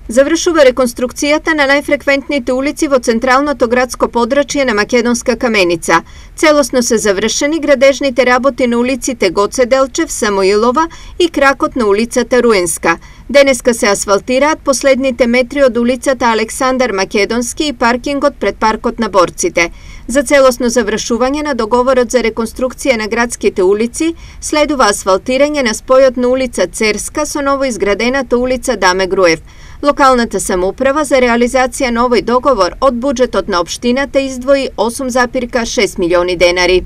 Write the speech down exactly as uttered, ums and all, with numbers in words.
Завршува реконструкцијата на најфреквентните улици во централното градско подрачје на Македонска Каменица. Целосно се завршени градежните работи на улиците Гоце Делчев, Самоилова и кракот на улицата Руенска. Денеска се асфалтираат последните метри од улицата Александар Македонски и паркингот пред паркот на борците. За целосно завршување на договорот за реконструкција на градските улици следува асфалтирање на спојот на улица Церска со новоизградената улица Даме Груев. Локалната самоуправа за реализација на овој договор од буџетот на општината издвои осум зарез шест милиони денари.